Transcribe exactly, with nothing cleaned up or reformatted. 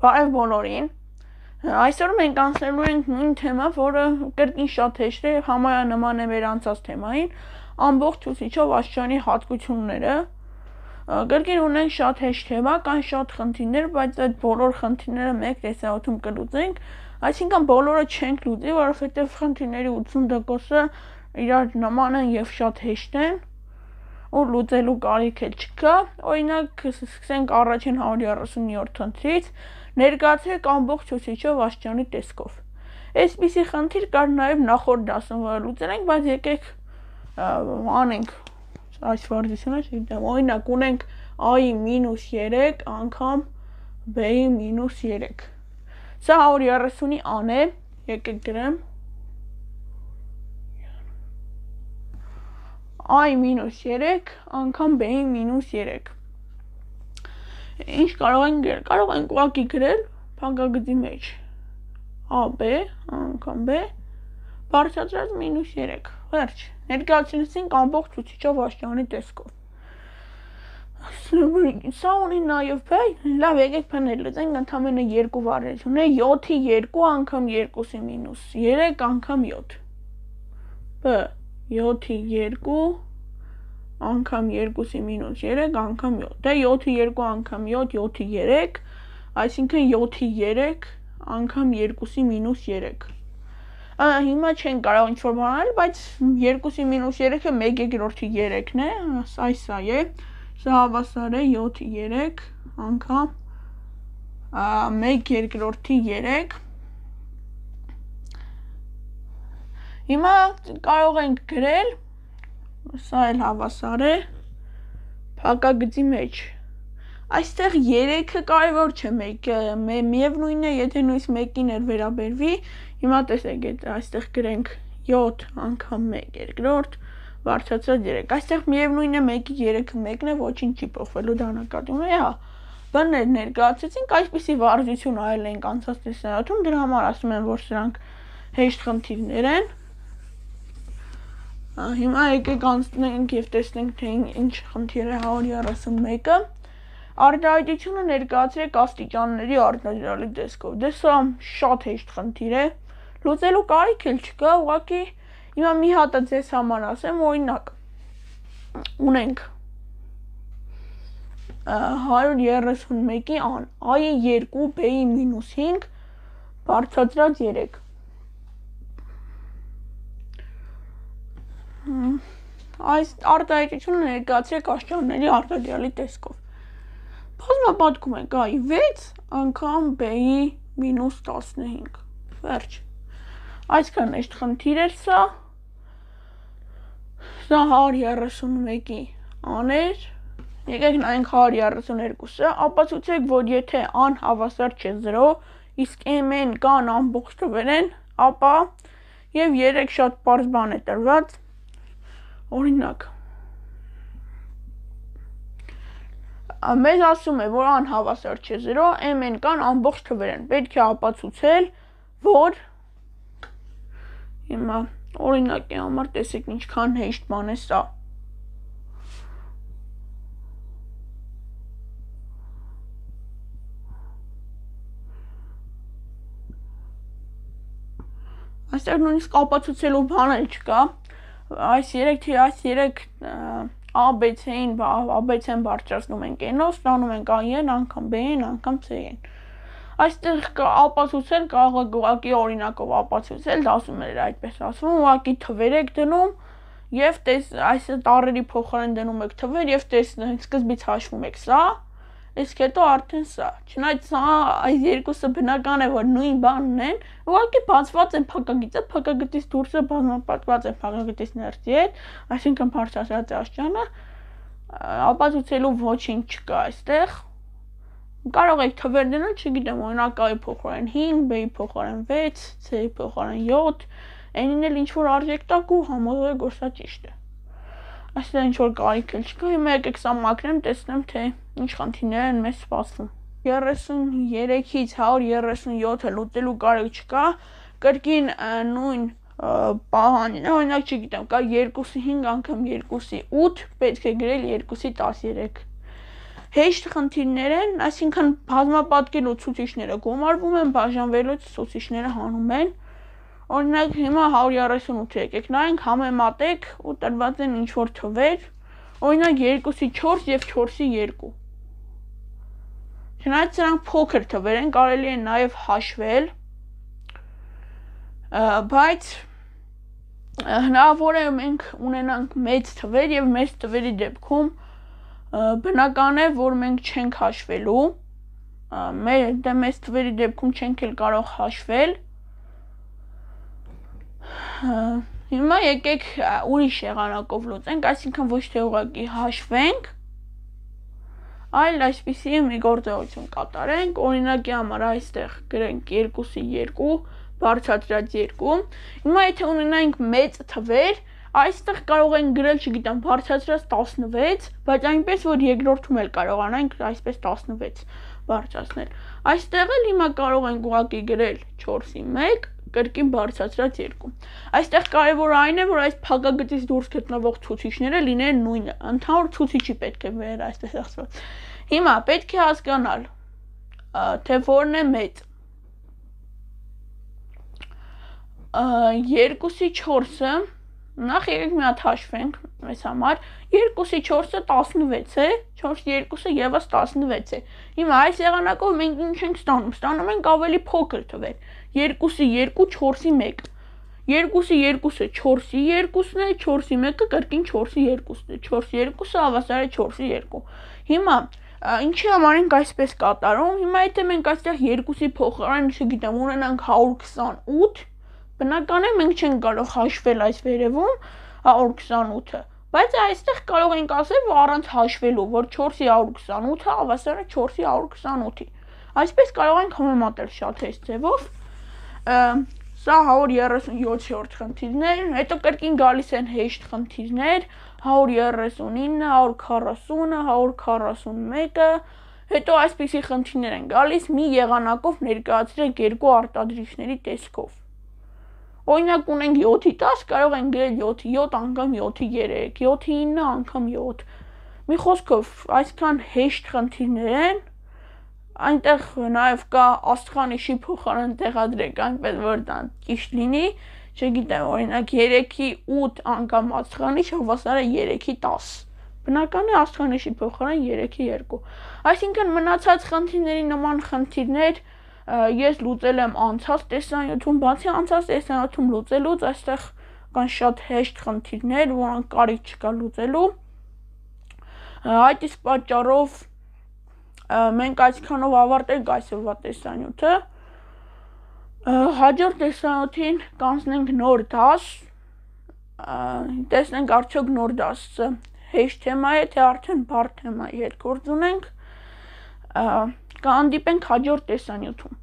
Բարև բոլորին։ Այսօր մենք անցնելու ենք նույն թեմա, որը կրկին շատ հեշտ է եւ համարյա նման է մեր անցած թեմային, ամբողջ ուսուցիչով աստիճանի հատկությունները։ Կրկին ունենք շատ հեշտ թեմա, կան շատ խնդիրներ, բայց այդ բոլոր խնդիրները մեկ տեսահատում կլուծենք, այսինքն բոլորը չենք լուծի, որովհետեւ խնդիրների ութսուն տոկոսը իրար նման են եւ շատ հեշտ են։ Ու լուծելու կարիք էլ չկա, օրինակ սկսենք առաջին հարյուր երեսունյոթ խնդրից, ներկայացրեք ամբողջ ուսուցիչով աստիճանի տեսքով։ Այսպիսի խնդիր կար նաև նախորդ դասում, որը լուծել ենք, բայց եկեք անենք այս վարժությունը, չգիտեմ, օրինակ ունենք a-ի մինուս երեք անգամ b-ի մինուս երեք։ Սա հարյուր երեսունի a-ն է, եկեք գրեմ a-ի մինուս երեք անգամ b-ի մինուս երեք։ Ինչ կարող ենք գրել, կարող ենք ուղղակի գրել փակագծի մեջ ab անգամ b բարձրացրած մինուս երեք, վերջ, ներկայացրեցինք ամբողջ ուսուցիչով աստիճանի տեսքով։ Սա ունի նաև b, լավ, եկեք փնել լուծենք, ընդամենը երկու վարժություն է, յոթի երկու անգամ երկուսի մինուս երեք անգամ յոթ, b յոթի երկու անգամ երկուսի մինուս երեք անգամ յոթ, դե յոթի երկու անգամ յոթ, յոթի երեք, այսինքն յոթի երեք անգամ երկուսի մինուս երեք։ Հիմա չենք կարող ինչ-որ բան անել, բայց երկուսի մինուս երեքը մեկ երկրորդի երեքն է, այս սա է, սա հավասար է յոթի երեք անգամ մեկ երկրորդի երեք։ Հիմա կարող ենք գրել, սա էլ հավասար է փակագծի մեջ։ Այստեղ երեքը կարևոր չէ, միևնույնն է, եթե նույնիսկ մեկին էլ վերաբերվի, հիմա տեսեք, այստեղ գրենք յոթ անգամ մեկ երկրորդ բարձրացրած երեք, այստեղ միևնույնն է, մեկի երեքը մեկն է, ոչինչ չի փոխվելու, դա նկատվում է, հա։ Բաններ ներկայացրեցինք, այսպիսի վարժություն արել ենք անցած տեսահատում, դրա համար ասում են, որ սրանք հեշտ խնդիրներ են։ Հիմա եկեք անցնենք եւ տեսնենք, թե ինչ խնդիր է հարյուր երեսունմեկը։ Արտահայտությունը ներկայացրեք աստիճանների արտադրյալի տեսքով։ Դե սա շատ հեշտ խնդիր է, լուծելու կարիք էլ չկա, ուղղակի հիմա մի հատ ձեզ համար ասեմ, օրինակ ունենք հարյուր երեսունմեկի ան, a-ի երկու, b-ի մինուս հինգ բարձրացրած երեք։ Այս արտահայտությունը ներկայացրեք աստիճանների արտադրյալի տեսքով։ Բազմապատկում ենք a-ի վեց անգամ b-ի մինուս տասնհինգ, վերջ։ Այսքան հեշտ խնդիր էր սա, սա հարյուր երեսունմեկի ան էր, եկեք նայենք հարյուր երեսուներկուսը, ապացուցեք, որ եթե ան հավասար չէ զրո, իսկ m-ն կան ամբողջ թվեր են, ապա եւ երեք շատ պարզ բան է տրված, օրինակ մեզ ասում է, որ ան հավասար չէ զրո, m-ն կան ամբողջ թվեր են, պետք է ապացուցել, որ հիմա օրինակի համար տեսեք ինչքան հեշտ բան է սա։ Այստեղ նույնիսկ ապացուցելու բան էլ չկա, այս երեք թե այս երեք a-b-c-ին, a-b-c-ն բարձրացնում ենք n-ով, ստանում ենք a-ն անգամ b-ն անգամ c-ն։ Այստեղ ապացուցել կարող եք ուղղակի օրինակով ապացուցել, ասում էր այդպես ասվում, ուղղակի թվեր եք դնում եւ այս տառերի փոխարեն դնում եք թվեր եւ տեսնեք, սկզբից հաշվում եք սա, իսկ հետո արդեն սա։ Չնայած սա այս երկուսը բնական է, որ նույն բանն են, ուղղակի բացված են փակագիծը, փակագծից դուրսը բազմապատկված է փակագծից ներսի հետ, այսինքն բարձրացած է աստիճանը, ապացուցելու ոչինչ չկա այստեղ։ Կարող եք թվեր դնել, չգիտեմ, օրինակ a-ի փոխարեն հինգ, b-ի փոխարեն վեց, c-ի փոխարեն յոթ, n-ին էլ ինչ-որ արժեք տաք ու համոզեք, որ սա ճիշտ է։ Այստեղ ինչ-որ կարիք էլ չկա, հիմա եկեք սա մաքրեմ, տեսնեմ, թե ինչ խնդիրներ են մեզ սպասվում։ երեսուներեքից հարյուր երեսունյոթը լուծելու կարիք չկա, կրկին նույն պահանջն է, օրինակ չգիտեմ, կա երկուսի հինգ անգամ երկուսի ութ, պետք է գրել երկուսի տասներեք։ Հեշտ խնդիրներ են, այսինքն բազմապատկելու ցուցիչները գումարվում են, բաժանվելուց ցուցիչները հանում են։ Օրինակ հիմա հարյուր երեսունութ եկեք նայենք, համեմատեք ու տրված են ինչ-որ թվեր, օրինակ երկուսի չորս և չորսի երկու։ Չնայած սրանք փոքր թվեր են, կարելի է նաև հաշվել, բայց հնարավոր է մենք ունենանք մեծ թվեր և մեծ թվերի դեպքում բնական է, որ մենք չենք հաշվելու, մեծ թվերի դեպքում չենք էլ կարող հաշվել։ Հիմա եկեք ուրիշ եղանակով լուծենք, այսինքն ոչ թե ուղղակի հաշվենք, այլ այսպիսի մի գործողություն կատարենք, օրինակի համար այստեղ գրենք երկուսի երկու, բարձրացրած երկու, հիմա եթե ունենայինք մեծ թվեր, այստեղ կարող ենք գրել, չգիտեմ, բարձրացրած տասնվեց, բայց այնպես, որ երկրորդում էլ կարողանանք այսպես տասնվեց բարձրացնել։ Այստեղ էլ հիմա կարող ենք ուղղակի գրել չորսի մեկ, կրկին բարձրացրած երկու։ Այստեղ կարևորը այն է, որ այս փակագծից դուրս գտնվող ցուցիչները լինեն նույնը, ընդհանուր ցուցիչի պետք է վերել այսպես ասած։ Հիմա պետք է հասկանալ, թե որն է մեծ։ Երկուսի չորսը, նախ եկեք մի հատ հաշվենք մեզ համար, երկուսի չորսը տասնվեց է, չորսի երկուսը ևս տասնվեց է։ Հիմա այս եղանակով մենք ինչ ենք ստանում, ստանում ենք ավելի փոքր թվեր, երկուսի երկու, չորսի մեկ, երկուսի երկուսը չորսի երկուսն է, չորսի մեկը կրկին չորսի երկուսն է, չորսի երկուսը հավասար է չորսի երկու։ Հիմա ինչի համար ենք այսպես կատարում, հիմա եթե մենք այստեղ երկուսի փոխարեն, չգիտեմ, ունենանք հարյուր քսանութ, բնական է մենք չենք կարող հաշվել այս վերևում հարյուր քսանութը, բայց այստեղ կարող ենք ասել, որ առանց հաշվելու, որ չորսի հարյուր քսանութը հավասար է չորսի հարյուր քսանութի։ Այսպես կարող ենք համեմատել շատ հեշտ ձևով։ Սա հարյուր երեսունյոթերորդ խնդիրներ, հետո կրկին գալիս են հեշտ խնդիրներ, հարյուր երեսունինը, հարյուր քառասունը, հարյուր քառասունմեկը, հետո այսպիսի խնդիրներ են գալիս, մի եղանակով ներկայացրեք երկու արտադրիչների տեսքով։ Օրինակ ունենք յոթի տաս, կարող ենք գրել յոթի յոթ անգամ յոթի երեք, յոթի ինը անգամ յոթ։ Մի խոսքով, այսքան հեշտ խնդիրներ են, այնտեղ նաև կա աստղանիշի փոխարեն տեղադրեք, այնպես որ դա ճիշտ լինի, չգիտեմ, օրինակ երեքի ութ անգամ աստղանիշ հավասար է երեքի տաս։ Բնական է աստղանիշի փոխարեն երեքի երկու։ Այսինքն մնացած խնդիրների նման խնդիրներ ես լուծել եմ անցած տեսանյութում, բացի անցած տեսանյութում լուծելուց, այստեղ կան շատ հեշտ խնդիրներ, որոնք կարիք չկա լուծելու։ Այդ իսկ պատճառով մենք այսքանով ավարտենք այսօրվա տեսանյութը։ Հաջորդ տեսանյութին կանցնենք նոր դաս, տեսնենք արդյոք նոր դասը հեշտ թեմա է, թե արդեն բարդ թեմայի հետ գործ ունենք, կհանդիպենք հաջորդ տեսանյութում։